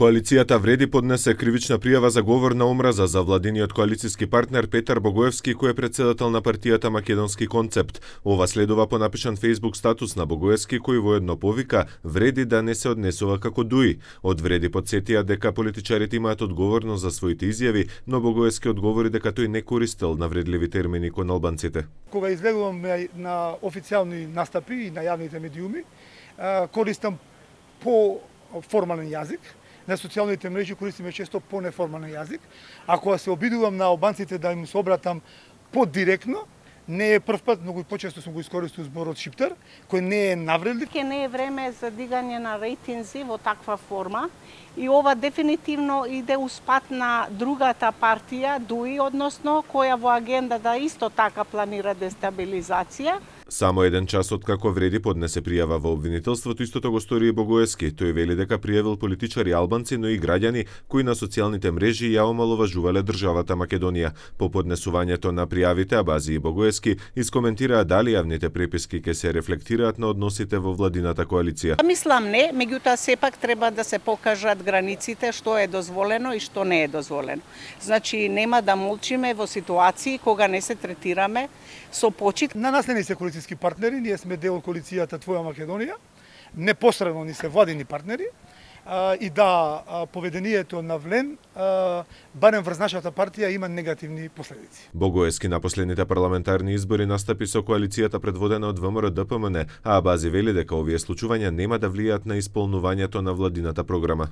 Коалицијата Вреди поднесе кривична пријава за говор на омраза за владиниот коалициски партнер Петар Богоевски, кој е претседател на партијата Македонски концепт. Ова следува по напишан Facebook статус на Богоевски, кој воедно повика Вреди да не се однесува како дуи. Од Вреди потсетија дека политичарите имаат одговорност за своите изјави, но Богоевски одговори дека тој не користел навредливи термини кон албанците. Кога излегувам на официјални настапи и на јавните медиуми, користам по формален јазик. На социјалните мрежи користиме често по-неформален јазик. Ако се обидувам на албанците да им се обратам подиректно, не е прв пат, многу почесто сум го искористил зборот шиптар, кој не е навредлив. Не е време за дигање на рейтинзи во таква форма и ова дефинитивно иде успат на другата партија, ДУИ, односно, која во агендата исто така планира дестабилизација. Само еден час откако Вреди поднесе пријава во обвинителството, истото го стори и Богоевски. Тој вели дека пријавил политичари албанци, но и граѓани кои на социјалните мрежи ја омаловажувале државата Македонија. По поднесувањето на пријавите, Абази и Богоевски искоментираа дали јавните преписки ќе се рефлектираат на односите во владината коалиција. Мислам не, меѓутоа сепак треба да се покажат границите што е дозволено и што не е дозволено. Значи нема да молчиме во ситуации кога не се третираме со почит. На нас не се коалициски партнери, ние сме дел од коалицијата Твоја Македонија, непосредно ни се владини партнери, и да поведението на Влен, барем врз нашата партија, има негативни последици. Богоевски на последните парламентарни избори настапи со коалицијата предводена од ВМРО-ДПМН, а Абази вели дека овие случувања нема да влијаат на исполнувањето на владината програма.